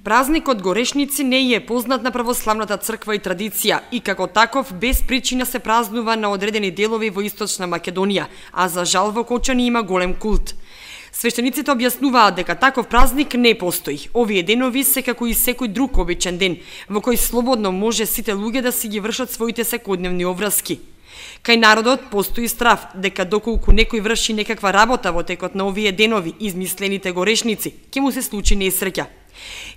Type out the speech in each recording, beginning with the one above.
Празникот Горешници не е познат на православната црква и традиција и како таков без причина се празнува на одредени делови во Источна Македонија, а за жал во Кочани има голем култ. Свештениците објаснуваат дека таков празник не постои. Овие денови се како и секој друг обичен ден, во кој слободно може сите луѓе да си ги вршат своите секојдневни обврски. Кај народот постои страв дека доколку некој врши некаква работа во текот на овие денови, измислените горешници, ќе му се случи несреќа.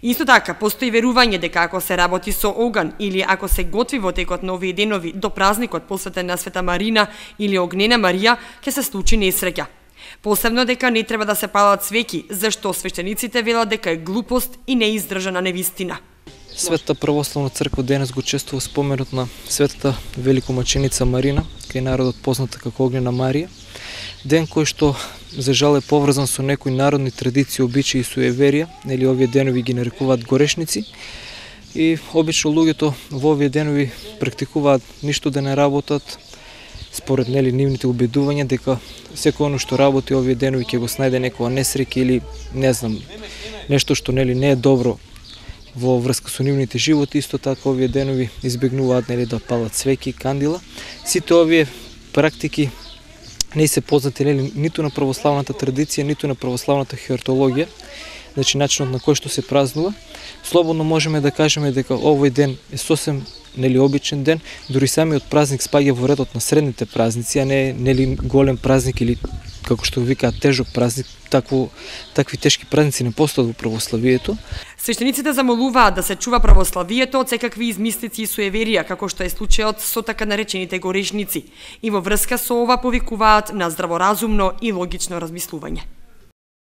Исто така, постои верување дека ако се работи со оган или ако се готви во текот на овие денови до празникот посветен на Света Марина или Огнена Марија, ќе се случи несреќа. Посебно дека не треба да се палат свеќи, зашто свештениците велат дека е глупост и неиздржана невистина. Светата православна црква денес го чествува споменот на светата великомаченица Марина, кај народот позната како Огнена Марија, ден кој што за жал е поврзан со некои народни традиции, обичаи и суеверија, нели овие денови ги нарекуваат горешници, и обично луѓето во овие денови практикуваат ништо да не работат, според нели нивните убедувања дека секој оно што работи овие денови ќе го снајде некоја несреќа или не знам, нешто што нели не е добро во врска со нивните животи. Исто така овие денови избегнуваат нели да палат свеќи, кандила. Сите овие практики не се познати нели ниту на православната традиција, ниту на православната хератологија, значи начинот на кој што се празнува. Слободно можеме да кажеме дека овој ден е сосем нели обичен ден, дури самиот празник спаѓа во редот на средните празници, а не нели голем празник или како што викаат тежок празник. Такви тешки празници не постојат во православието. Свештениците замолуваат да се чува православието од секакви измислици и суеверија, како што е случајот со така наречените горешници, и во врска со ова повикуваат на здраворазумно и логично размислување.